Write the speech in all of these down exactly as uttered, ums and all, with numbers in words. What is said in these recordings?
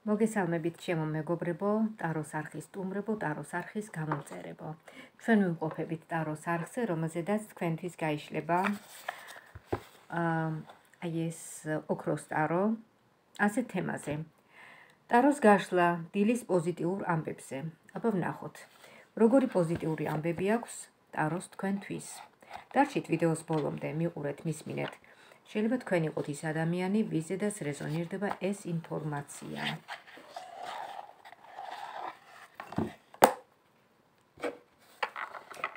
მოგესალმებით ჩემო მეგობრებო, ტაროს არხის სტუმრებო, ტაროს არხის გამომწერებო. ჩვენ ვიმყოფებით ტაროს არხზე, რომელზედაც თქვენთვის გაიშლება აი ეს ოქროს ტარო, ასეთ თემაზე. ტაროს გაშლა დილის პოზიტიურ ამბებზე. აბა ვნახოთ, როგორი პოზიტიური ამბები აქვს ტაროს თქვენთვის. დარჩით ვიდეოს ბოლომდე, მიყურეთ, მისმინეთ. შეიძლება თქვენ იყოთ ის ადამიანი, ვიზედაც რეზონირდება ეს ინფორმაცია.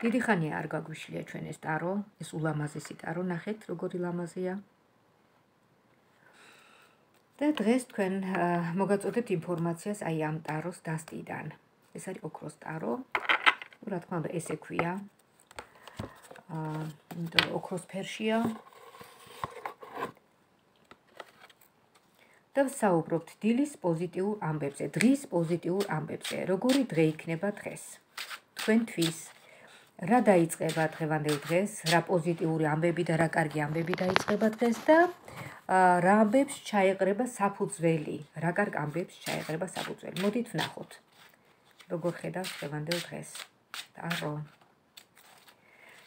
დიდი ხანია არ გაგვიშლია ჩვენ ეს ტარო, ეს ულამაზესი ტარო, ნახეთ როგორი ლამაზია. და დღეს თქვენ მოგაწოდებთ ინფორმაციას აი ამ ტაროს დასტიდან. ეს არის ოქროს ტარო, რა თქმა უნდა ესე ქვია. აა, იმიტომ რომ ოქროს ფერშია. და ვსაუბრობთ დილის პოზიტიურ ამბებზე, დღის პოზიტიურ ამბებზე. როგორი დღე იქნება დღეს? თქვენთვის რა დაიწყება დღევანდელ დღეს, რა პოზიტიური ამბები და რა კარგი ამბები დაიწყება დღეს და რა ამბებს ჩაეყრება საფუძველი, რა კარგ ამბებს ჩაეყრება საფუძველი. მოდით ვნახოთ, როგორ ხედავს დღევანდელ დღეს ტარო.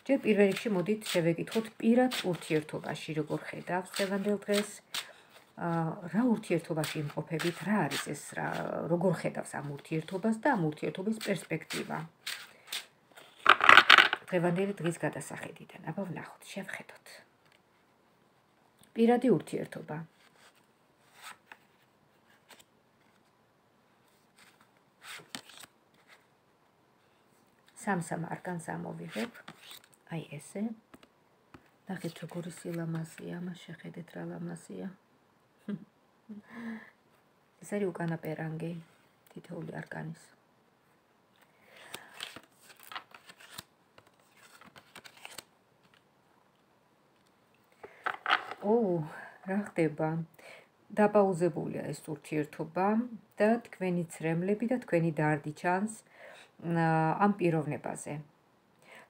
ჯერ პირველ რიგში მოდით შევეკითხოთ პირად ურთიერთობაში, როგორ ხედავს დღევანდელ დღეს. რა ურთიერთობაში იმყოფებით, რა არის ეს, რა როგორ ხედავს ამ ურთიერთობას და ამ ურთიერთობის პერსპექტივა. დღევანდელი დღის გადასახედიდან, აბა ვნახოთ, შევხედოთ. პირადი ურთიერთობა. სამ-სამ არკანს ამოვიღებ, აი ესე. ნახეთ როგორი სილამაზეა, მას შეხედეთ რა ლამაზია. ეს არის უკანა პერანგი თითოეული არკანის. ო, რა ხდება? დაპაუზებულია ეს ურთიერთობა და თქვენი ცრემლები და თქვენი დარდი ჩანს ამ პიროვნებაზე.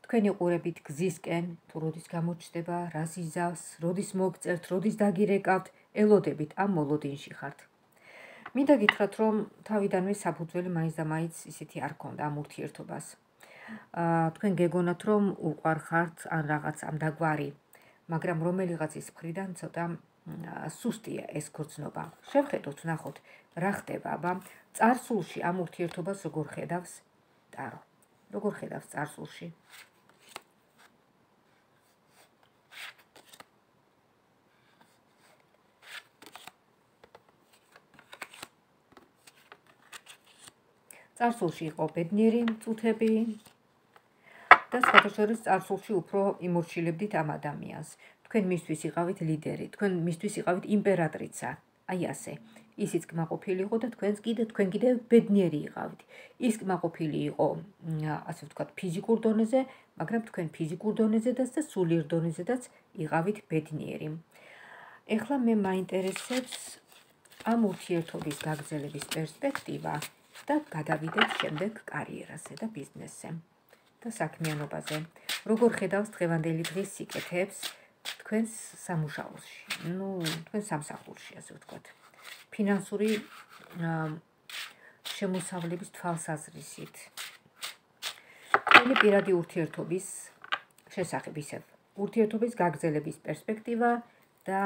თქვენი ყურებით გზისკენ, თუ როდის გამოჩნდება, რას იზავს, როდის მოგწერთ, როდის დაგირეკავთ, ელოდებით ამ მოლოდინში ხართ. მინდა გითხრათ, რომ თავიდანვე საფუძველი მაინც და მაინც ისეთი არ ქონდა ამ ურთიერთობას. თქვენ გეგონათ, რომ უყვარ ხართ ან რაღაც ამ დაგვარი, მაგრამ რომელიღაცის მხრიდან ცოტა სუსტია ეს გრძნობა. შევხედოთ, ვნახოთ, რა ხდება, აბა, წარსულში ამ ურთიერთობას როგორ ხედავს ტარო. როგორ ხედავს წარსულში? წარსულში იყო ბედნიერი წუთები და სხვადასხვა წარსულში უფრო იმორჩილებდით ამ ადამიანს. თქვენ მისთვის იყავით ლიდერი, თქვენ მისთვის იყავით იმპერატრიცა, აი ასე. ისიც კმაყოფილი იყო და თქვენს კიდე თქვენ კიდე ბედნიერი იყავით. ის კმაყოფილი იყო, ასე ვთქვათ, ფიზიკურ დონეზე, მაგრამ თქვენ ფიზიკურ დონეზედაც და სულიერ დონეზედაც იყავით ბედნიერი. ეხლა მე მაინტერესებს ამ ურთიერთობის გაგრძელების პერსპექტივა და გადავიდეთ შემდეგ კარიერაზე და ბიზნესზე და საქმიანობაზე. როგორ ხედავს დღევანდელი დღის სიკეთეებს თქვენს სამუშაოში, ну, თქვენ სამსახურში, ასე ვთქვათ. ფინანსური შემოსავლების თვალსაზრისით. თქვენი პირადი ურთიერთობის შესახებ ისევ, ურთიერთობის გაგრძელების პერსპექტივა და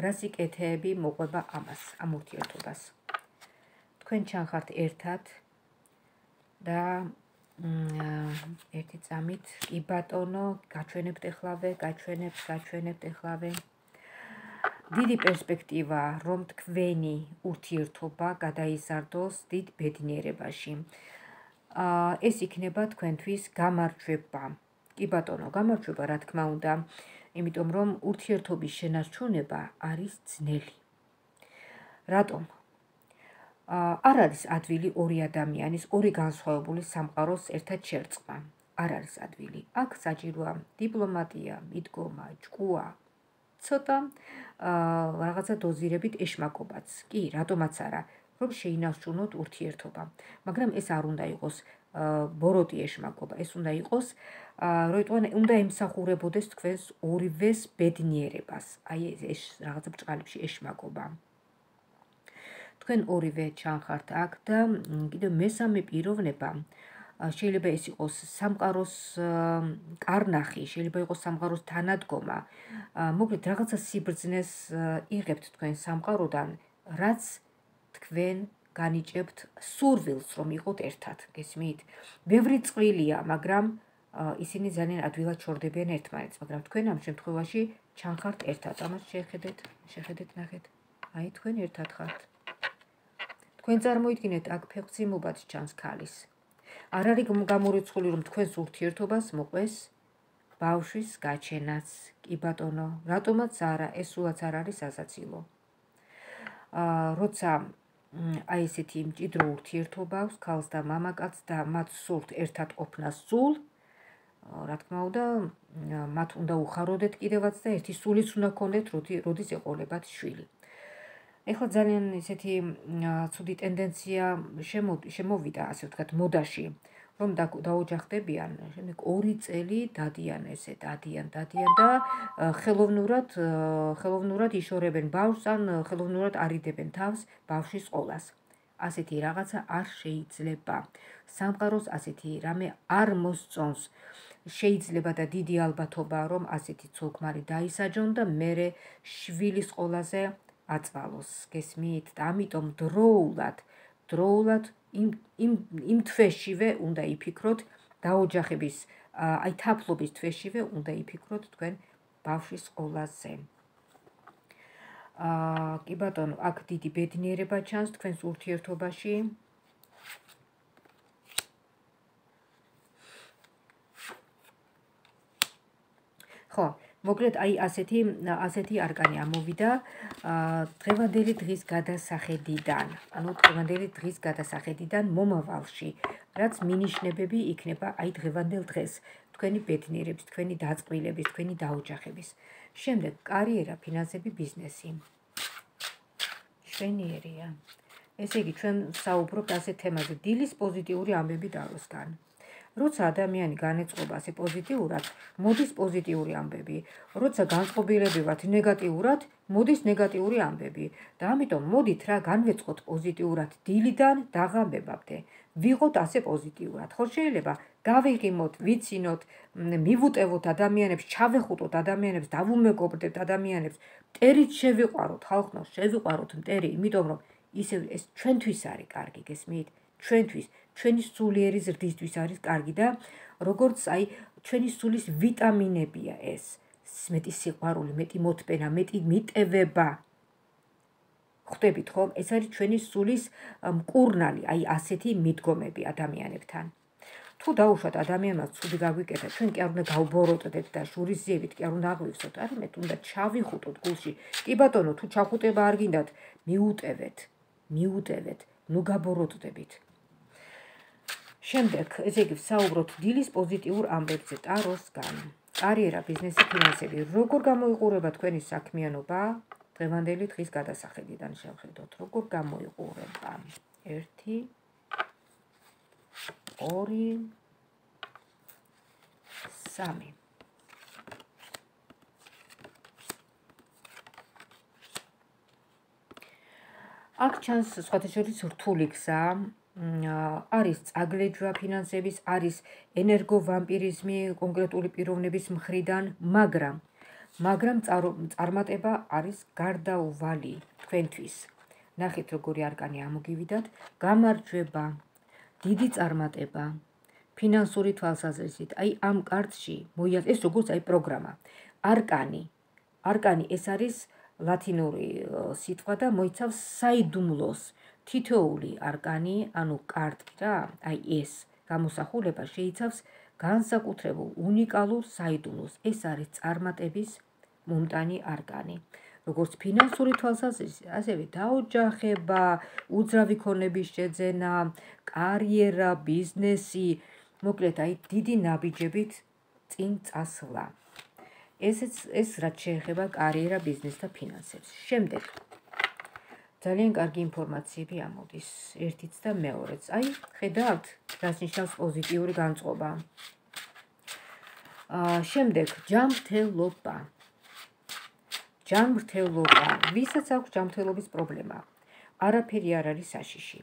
რა სიკეთეები მოყვება ამას, ამ ურთიერთობას. თქვენ ჩანხართ ერთად და ერთი წამით, კი ბატონო, გაჩვენებთ ეხლავე, გაჩვენებთ, გაჩვენებთ ეხლავე. დიდი პერსპექტივა, რომ თქვენი ურთიერთობა გადაიზარდოს დიდ ბედნიერებაში. ეს იქნება თქვენთვის გამარჯვება. კი ბატონო, გამარჯვება, რა თქმა უნდა, იმიტომ რომ ურთიერთობის შენარჩუნება არის ძნელი. რატომ? არ არის ადვილი ორი ადამიანის, ორი განსხვავებული სამყაროს ერთად შერწყმა. არ არის ადვილი. აქ საჭიროა დიპლომატია, მიდგომა, ჭკუა, ცოტა რაღაცა დოზირებით ეშმაკობაც. კი, რატომაც არა, რომ შეინარჩუნოთ ურთიერთობა. მაგრამ ეს არ უნდა იყოს ბოროტი ეშმაკობა, ეს უნდა იყოს, როიტყვან უნდა ემსახურებოდეს თქვენს ორივეს ბედნიერებას. აი ეს რაღაცა ბრჭყალებში ეშმაკობა. თქვენ ორივე ჩანხართ აქ და კიდევ მესამე პიროვნება შეიძლება ეს იყოს სამყაროს კარნახი, შეიძლება იყოს სამყაროს თანადგომა. მოკლედ რაღაცა სიბრძნეს იღებთ თქვენ სამყაროდან, რაც თქვენ განიჭებთ სურვილს, რომ იყოთ ერთად, გესმით? ბევრი წვლილია, მაგრამ ისინი ძალიან ადვილად შორდებიან ერთმანეთს, მაგრამ თქვენ ამ შემთხვევაში ჩანხართ ერთად. ამას შეხედეთ, შეხედეთ, ნახეთ. აი თქვენ ერთად ხართ. თქვენ წარმოიდგინეთ აქ ფეხმძიმობად ჩანს ქალის. არ არის გამორიცხული, რომ თქვენს ურთიერთობას მოყვეს ბავშვის გაჩენაც. კი ბატონო, რატომაც არა, ეს სულაც არ არის სასაცილო. როცა აი ესეთი მჭიდრო ურთიერთობა აქვს ქალს და მამაკაცს და მათ სურთ ერთად ყოფნას სულ, რა თქმა უნდა, მათ უნდა უხაროდეთ კიდევაც და ერთი სულიც უნდა გქონდეთ, როდის ეყოლებათ შვილი. ეხლა ძალიან ესეთი ცუდი ტენდენცია შემოვიდა, ასე ვთქვათ, მოდაში, რომ დაოჯახდებიან, შემდეგ ორი წელი დადიან ესე, დადიან, დადიან და ხელოვნურად, ხელოვნურად იშორებენ ბავშვს ან ხელოვნურად არიდებენ თავს ბავშვის ყოლას. ასეთი რაღაცა არ შეიძლება. სამყაროს ასეთი რამე არ მოსწონს. შეიძლება და დიდი ალბათობაა, რომ ასეთი ცოლ-ქმარი დაისაჯონ და მერე შვილის ყოლაზე აწვალოს. გესმით? და ამიტომ დროულად, დროულად იმ იმ იმ თვეშივე უნდა იფიქროთ დაოჯახების, აი თაფლობის თვეშივე უნდა იფიქროთ თქვენ ბავშვის ყოლაზე. აა კი ბატონო, აქ დიდი ბედნიერება ჩანს თქვენს ურთიერთობაში. ხო, მოკლედ აი ასეთი ასეთი არკანი ამოვიდა დღევანდელი დღის გადასახედიდან, ანუ დღევანდელი დღის გადასახედიდან მომავალში, რაც მინიშნებები იქნება აი დღევანდელ დღეს, თქვენი ბედნიერების, თქვენი დაწყვილების, თქვენი დაოჯახების. შემდეგ კარიერა, ფინანსები, ბიზნესი. შვენიერია. ესე იგი, ჩვენ საუბრობთ ასეთ თემაზე, დილის პოზიტიური ამბები დავსგან. როცა ადამიანი განეწყობა ასე პოზიტიურად, მოდის პოზიტიური ამბები. როცა განწყობილები ვართ ნეგატიურად, მოდის ნეგატიური ამბები. და ამიტომ მოდით რა განვეწყოთ პოზიტიურად დილიდან დაღამებამდე. ვიღოთ ასე პოზიტიურად. ხო შეიძლება გავიღიმოთ, ვიცინოთ, მივუტევოთ ადამიანებს, ჩავეხუტოთ ადამიანებს, დავუმეგობრდებთ ადამიანებს, მტერით შევიყვაროთ, ხალხო, შევიყვაროთ მტერი, იმიტომ რომ ისე ეს ჩვენთვის არის კარგი, გესმით? ჩვენთვის, ჩვენი სულიერი ზრდისთვის არის კარგი და როგორც აი ჩვენი სულის ვიტამინებია ეს, მეტი სიყვარული, მეტი მოთბენა, მეტი მიტევება. ხვდებით ხომ? ეს არის ჩვენი სულის მკურნალი, აი ასეთი მიდგომები ადამიანებთან. თუ დაუშვათ ადამიანმა ცუდი გაგვიკეთა, ჩვენ კი არ უნდა გავბოროტდეთ და შურისძიებით კი არ უნდა აღვივსოთ, არამედ უნდა ჩავიხუტოთ გულში. კი ბატონო, თუ ჩახუტება არ გინდათ, მიუტევეთ, მიუტევეთ, ნუ გაბოროტდებით. შემდეგ, ესე იგი, საუბრობთ დილის პოზიტიურ ამბებზე, ტაროსგან. კარიერა, ბიზნესი, ფინანსები. როგორ გამოიყურება თქვენი საქმიანობა დღევანდელი დღის გადასახედიდან შევხედოთ, როგორ გამოიყურება. ერთი, ორი, სამი. აქ ჩანს სხვათა შორის რთული გზა, არის წაგლეჯვა ფინანსების, არის ენერგოვამპირიზმი კონკრეტული პიროვნების მხრიდან, მაგრამ მაგრამ წარმატება არის გარდაუვალი თქვენთვის. ნახეთ როგორი არკანი ამოგივიდათ, გამარჯვება, დიდი წარმატება, ფინანსური თვალსაზრისით. აი ამ კარტში მოიაზრეთ, ეს როგორც აი პროგრამა. არკანი, არკანი ეს არის ლათინური სიტყვა და მოიცავს საიდუმლოს. თითოეული არკანი, ანუ კარტი რა, აი ეს გამოსახულება შეიცავს განსაკუთრებულ უნიკალურ საიდუმლოს. ეს არის წარმატების მომტანი არკანი. როგორც ფინანსური თვალსაზრისით, ასევე დაოჯახება, უძრავი ქონების შეძენა, კარიერა, ბიზნესი, მოკლედ აი დიდი ნაბიჯებით წინ წასვლა. ესეც ეს რაც შეეხება კარიერა, ბიზნესს და ფინანსებს. შემდეგ ძალიან კარგი ინფორმაციები ამოდის, ერთიც და მეორეც. აი, ხედავთ, რას ნიშნავს პოზიტიური განწყობა. შემდეგ ჯანმრთელობა. ჯანმრთელობა, ვისაც აქვს ჯანმრთელობის პრობლემა. არაფერი არ არის საშიში.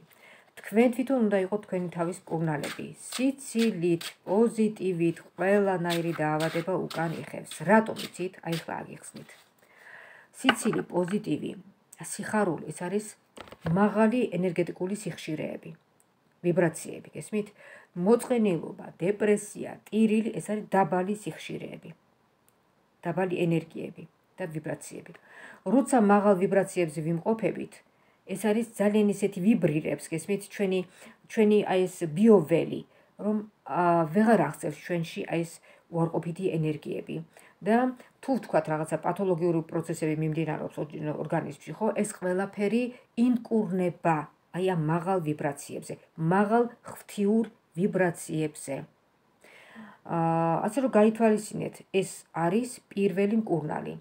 თქვენ თვითონ უნდა იყოთ თქვენი თავის მკურნალები. სიცილით, პოზიტივით, ყველანაირი დაავადება უკან იხევს. რატომ იცით? აი ხლა აგიხსნით. სიცილი, პოზიტივი, სიხარული, ეს არის მაღალი ენერგეტიკული სიხშირეები, ვიბრაციები, გესმით? მოწყენილობა, დეპრესია, ტირილი, ეს არის დაბალი სიხშირეები, დაბალი ენერგიები და ვიბრაციები. როცა მაღალ ვიბრაციებზე ვიმყოფებით, ეს არის ძალიან ისეთი ვიბრირებს, გესმით, ჩვენი ჩვენი აი ეს ბიოველი, რომ ვეღარ აღწევს ჩვენში აი ეს უარყოფითი ენერგიები და თუ ვთქვათ რაღაცა პათოლოგიური პროცესები მიმდინარეობს ორგანიზმში, ხო, ეს ყველაფერი ინკურნება აი ამ მაღალ ვიბრაციებზე, მაღალ ღვთიურ ვიბრაციებზე. ასე რომ გაითვალისწინეთ, ეს არის პირველი მკურნალი.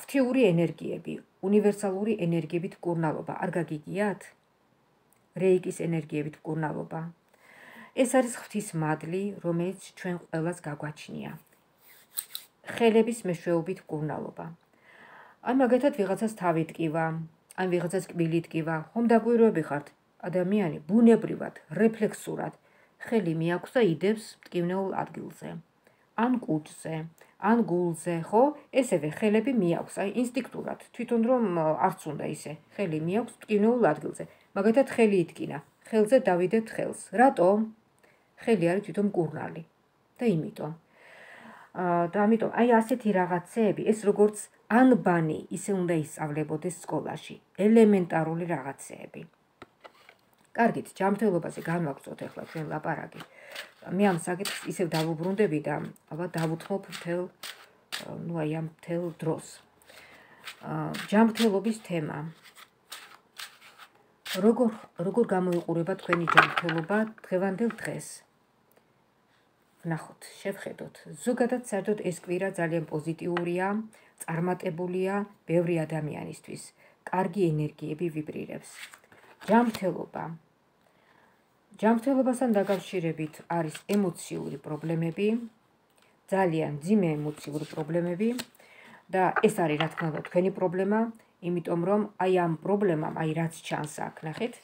ღვთიური ენერგიები, უნივერსალური ენერგიებით მკურნალობა. არ გაგიგიათ? რეიკის ენერგიებით მკურნალობა. ეს არის ღვთის მადლი, რომელიც ჩვენ ყველას გაგვაჩნია. ხელების მეშვეობით მკურნალობა. ან მაგათად ვიღაცას თავი ტკივა, ან ვიღაცას კბილი ტკივა, ხომ დაკვირვები ხართ? ადამიანი ბუნებრივად, რეფლექსურად ხელი მიაქვს და იდებს მტკივნეულ ადგილზე. ან კუჭზე, ან გულზე, ხო? ესევე ხელები მიაქვს, აი ინსტინქტურად, თვითონ რომ არც უნდა ისე, ხელი მიაქვს მტკივნეულ ადგილზე. მაგათად ხელი იტკინა, ხელზე დავიდებთ ხელს. რატომ? ხელი არის თვითონ მკურნალი. და იმიტომ. და ამიტომ აი ასეთი რაღაცეები, ეს როგორც ანბანი, ისე უნდა ისწავლებოდეს სკოლაში, ელემენტარული რაღაცეები. კარგით, ჯანმრთელობაზე განვაგრძოთ ახლა ჩვენ ლაპარაკი. მე ამ საკითხს ისევ დავუბრუნდები და ალბათ დავუთმობ მთელ, ну აი ამ მთელ დროს. ჯანმრთელობის თემა. როგორ როგორ გამოიყურება თქვენი ჯანმრთელობა დღევანდელ დღეს? ვნახოთ, შევხედოთ. ზოგადად საერთოდ ეს კვირა ძალიან პოზიტიურია, წარმატებულია ბევრი ადამიანისთვის. კარგი ენერგიები ვიბრირებს. ჯანმრთელობა. ჯანმრთელობასთან დაკავშირებით არის ემოციური პრობლემები, ძალიან მძიმე ემოციური პრობლემები და ეს არის რა თქმა უნდა თქვენი პრობლემა, იმიტომ რომ აი ამ პრობლემამ, აი რაც ჩანს აქ, ნახეთ,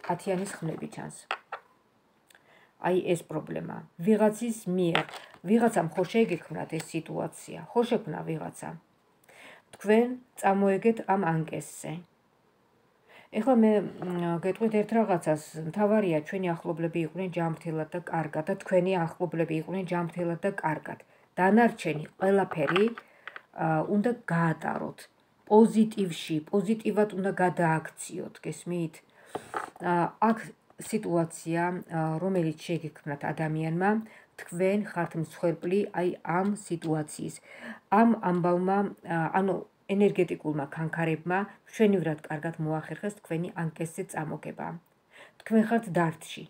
ათიანის ხმლები ჩანს. აი ეს პრობლემა. ვიღაცის მიერ, ვიღაცამ ხო შეიგექმნათ ეს სიტუაცია, ხო შექმნა ვიღაცა. თქვენ წამოეგეთ ამ ანკესზე. ეხლა მე გეტყვით ერთ რაღაცას, მთავარია ჩვენი ახლობლები იყვნენ ჯანმრთელად და კარგად და თქვენი ახლობლები იყვნენ ჯანმრთელად და კარგად. დანარჩენი ყველაფერი უნდა გაატაროთ პოზიტივში, პოზიტივად უნდა გადააქციოთ, გესმით? აქ სიტუაცია, რომელიც შეიგექმნათ ადამიანმა, თქვენ ხართ მსხვერპლი აი ამ სიტუაციის. ამ ამბავმა, ანუ ენერგეტიკულმა ქანქარებმა ჩვენივრად კარგად მოახერხეს თქვენი ანკესზე წამოგება. თქვენ ხართ დარდში.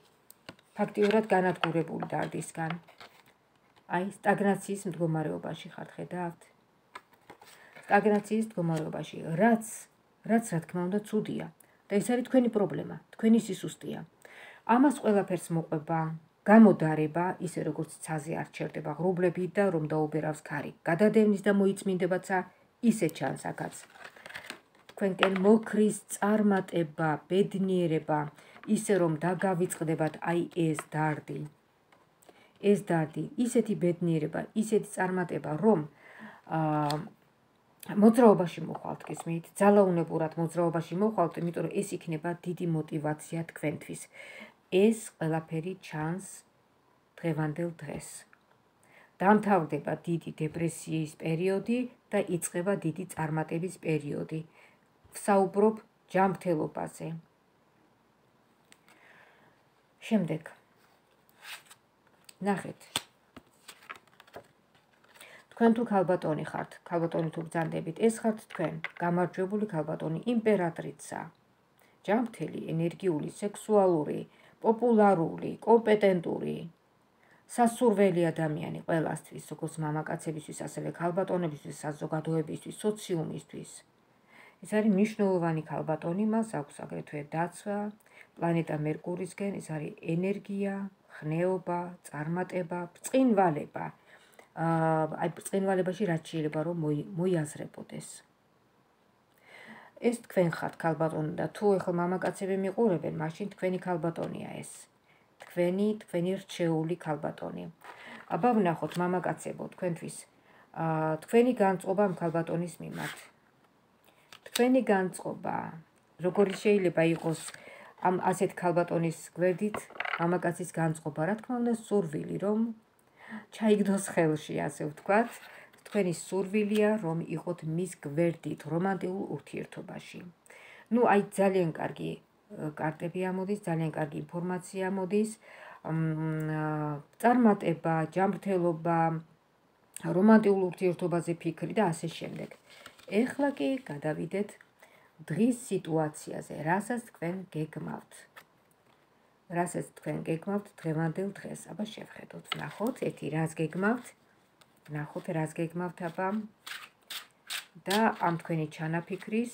ფაქტიურად განადგურებული დარდისგან. აი სტაგნაციის მდგომარეობაში ხართ, ხედავთ? სტაგნაციის მდგომარეობაში, რაც რაც რა თქმა უნდა ცუდია და ეს არის თქვენი პრობლემა, თქვენი სისუსტეა. ამას ყველაფერს მოყვება გამოდარება, ისე როგორც ცაზე არ ჩერდება ღრუბლები და რომ დაუბერავს ქარი. გადადევნის და მოიწმინდებაცა ისე ჩანს აქაც. თქვენკენ მოქრის წარმატება, ბედნიერება, ისე რომ დაგავიწყდებათ აი ეს დარდი. ეს დარდი, ისეთი ბედნიერება, ისეთი წარმატება, რომ მოძრაობაში მოხვალთ, გესმით? ძალაუნებურად მოძრაობაში მოხვალთ, იმიტომ რომ ეს იქნება დიდი мотиваცია თქვენთვის. ეს ყველაფერი ჩანს დღევანდელ დღეს. დამთავრდება დიდი დეპრესიის პერიოდი და იწყება დიდი წარმატების პერიოდი. ვსაუბრობ ჯანმრთელობაზე. შემდეგ. ნახეთ. თქვენ თუ ქალბატონი ხართ, ქალბატონი თუ ბრძანდებით, ეს ხართ თქვენ, გამარჯვებული ქალბატონი, იმპერატრიცა. ჯანმრთელი, ენერგიული, სექსუალური, პოპულარული, კომპეტენტური, სასურველი ადამიანი ყველასთვის, როგორც მამაკაცებისთვის, ასევე ქალბატონებისთვის, საზოგადოებისთვის, სოციუმისთვის. ეს არის მნიშვნელოვანი ქალბატონი, მას აქვს აგრეთვე დაცვა პლანეტა მერკურისკენ, ეს არის ენერგია, ხნეობა, წარმატება, ბრწყინვალება. აი ბრწყინვალებაში რაც შეიძლება რომ მოიაზრებოდეს. ეს თქვენ ხართ ქალბატონი და თუ ეხლა მამაკაცები მიყურებენ, მაშინ თქვენი ქალბატონია ეს. თქვენი, თქვენი რჩეული ქალბატონი. აბა ვნახოთ მამაკაცებო, თქვენთვის თქვენი განწყობა ამ ქალბატონის მიმართ. თქვენი განწყობა, როგორი შეიძლება იყოს ამ ასეთ ქალბატონის გვერდით მამაკაცის განწყობა, რა თქმა უნდა, სურვილი, რომ ჩაიგდოს ხელში, ასე ვთქვათ. თქვენი სურვილია, რომ იყოთ მის გვერდით რომანტიკულ ურთიერთობაში. ნუ აი ძალიან კარგი კარტები ამოდის, ძალიან კარგი ინფორმაცია ამოდის, წარმატება, ჯანმრთელობა, რომანტიკულ ურთიერთობაზე ფიქრი და ასე შემდეგ. ეხლა კი გადავიდეთ დღის სიტუაციაზე, რასაც თქვენ გეგმავთ. რასაც თქვენ გეგმავთ დღევანდელ დღეს. აბა შევხედოთ, ვნახოთ, ერთი რას გეგმავთ, ვნახოთ რას გეგმავთ, აბა და ამ თქვენი ჩანაფიქრის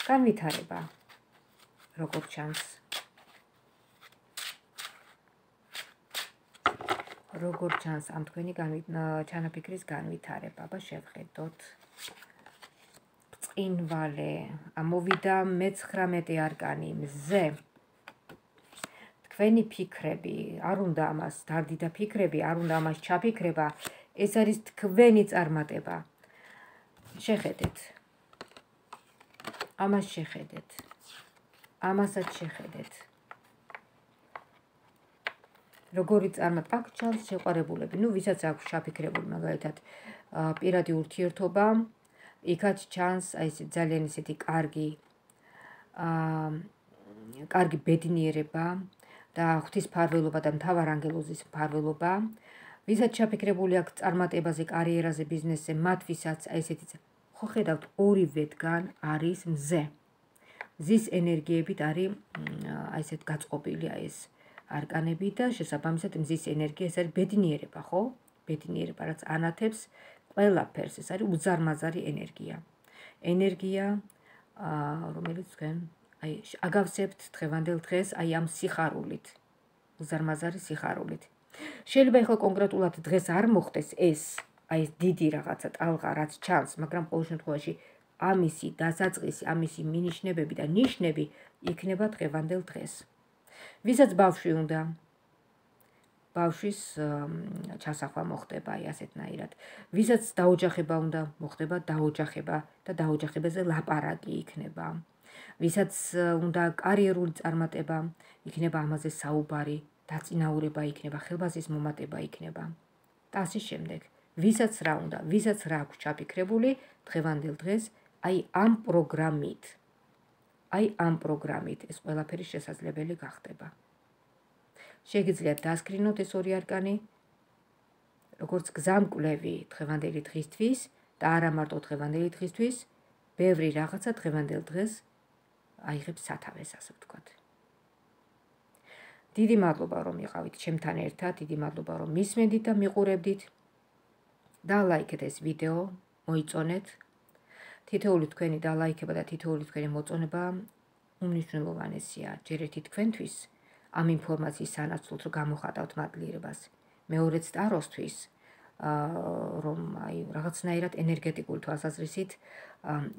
განვითარება, როგორ ჩანს. როგორ ჩანს ამ თქვენი ჩანაფიქრის განვითარება, აბა შევხედოთ. წინვალე, ამოვიდა მეცხრამეტე არკანი, მზე. თქვენი ფიქრები, არ უნდა ამას დარდიდა ფიქრები, არ უნდა ამას ჩაფიქრება, ეს არის თქვენი წარმატება. შეხედეთ. ამას შეხედეთ. ამასაც შეხედეთ. როგორი წარმატება, აქ ჩანს შეყვარებულები, ნუ ვისაც აქვს ჩაფიქრებული, მაგალითად, პირადი ურთიერთობა, იქაც ჩანს აი ეს ძალიან ისეთი კარგი კარგი ბედნიერება და ღვთისმფარველობა და მთავარანგელოზის მფარველობა. ვისაც ჩაფიქრებული აქვს წარმატებაზე, კარიერაზე, ბიზნესზე, მათ ვისაც აი ესეთი ხო ხედავთ, ორივეთგან არის მზე. მზის ენერგიებით არის აი ესეთ გაწყობილი აი ეს არკანები და შესაბამისად მზის ენერგია ეს არის ბედნიერება, ხო? ბედნიერება, რაც ანათებს ყველაფერს, ეს არის უზარმაზარი ენერგია. ენერგია, რომელიც თქვენ აი აგავსებთ დღევანდელ დღეს აი ამ სიხარულით, უზარმაზარი სიხარულით. შეიძლება ახლა კონკრეტულად დღეს არ მოხდეს ეს, აი ეს დიდი რაღაცა ტალღა, რაც ჩანს, მაგრამ ყოველ შემთხვევაში ამისი დასაწყისი, ამისი მინიშნებები და ნიშნები იქნება დღევანდელ დღეს. ვისაც ბავშვი უნდა, ბავშვის ჩასახვა მოხდება აი ასეთნაირად. ვისაც დაოჯახება უნდა, მოხდება დაოჯახება და დაოჯახებაზე ლაპარაკი იქნება. ვისაც უნდა კარიერული წარმატება, იქნება ამაზე საუბარი, დაწინაურება იქნება, ხელბაზის მომატება იქნება. და ასე შემდეგ. ვისაც რა უნდა, ვისაც რა აქვს ჩაფიქრებული, დღევანდელ დღეს აი ამ პროგრამით, აი ამ პროგრამით ეს ყველაფერი შესაძლებელი გახდება. შეგიძლიათ დასკრინოთ ეს ორი არკანი, როგორც გზამკვლევი დღევანდელი დღისთვის და არა მარტო დღევანდელი დღისთვის, ბევრი რაღაცა დღევანდელ დღეს აიღებს სათავეს, ასე ვთქვათ. დიდი მადლობა, რომ იყავით ჩემთან ერთად, დიდი მადლობა, რომ მისმენდით და მიყურებდით. და ლაიქეთ ეს ვიდეო, მოიწონეთ. თითოეული თქვენი დალაიქება და თითოეული თქვენი მოწონება უმნიშვნელოვანესია ჯერ ერთი თქვენთვის ამ ინფორმაციის სანაცვლოდ, რომ გამოხატავთ მადლიერებას. მეორეც ტაროსთვის, რომ აი რაღაცნაირად ენერგეტიკული თვალსაზრისით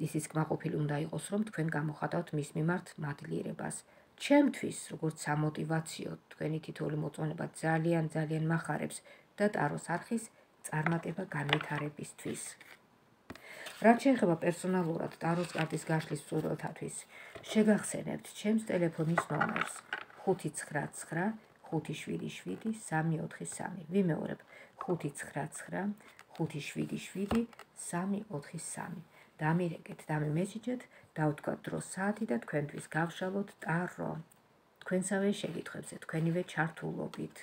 ისიც კმაყოფილი უნდა იყოს, რომ თქვენ გამოხატავთ მის მიმართ მადლიერებას. ჩემთვის, როგორც სამოტივაციო, თქვენი თითოეული მოწონება ძალიან ძალიან მახარებს და ტაროს არხის წარმატება განვითარებისთვის. რაც შეეხება პერსონალურად ტაროს კარტის გაშლის მსურველთათვის, შეგახსენებთ ჩემს ტელეფონის ნომერს ხუთი ცხრა ცხრა ხუთი შვიდი შვიდი სამი ოთხი სამი. ვიმეორებ ხუთი ცხრა ცხრა ხუთი შვიდი შვიდი სამი ოთხი სამი. დამირეკეთ, დამემესიჯეთ, დავთქვათ დრო საათი და თქვენთვის გავშალოთ ტარო. თქვენსავე შეკითხვებზე, თქვენივე ჩართულობით.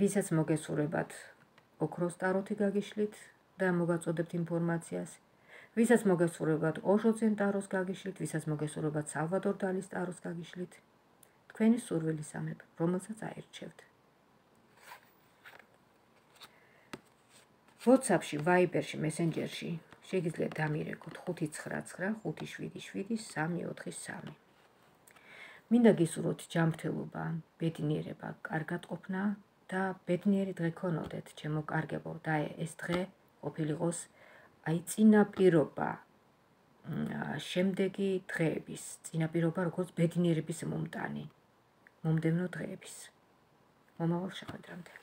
ვისაც მოგესურვებათ ოქროს ტაროთი გაგიშლით და მოგაწოდებთ ინფორმაციას, ვისაც მოგესურვებათ ოშოძენ ტაროს გაგიშლით, ვისაც მოგესურვებათ სალვადორ დალის ტაროს გაგიშლით, თქვენი სურვილის ამებ, რომელსაც აირჩევთ. WhatsApp-ში, Viber-ში, Messenger-ში შეგიძლიათ დამირეკოთ ხუთი ცხრა ცხრა ხუთი შვიდი შვიდი სამი ოთხი სამი. მინდა გისურვოთ ჯანმრთელობა, ბედნიერება, კარგად ყოფნა და ბედნიერი დღე გქონოდეთ, ჩემო კარგებო, და ეს დღე ყოფილიყოს აი წინაპირობა შემდეგი დღეების, წინაპირობა როგორც ბედნიერების მომტანი, მომდევნო დღეების. მომავალ შეხვედრამდე.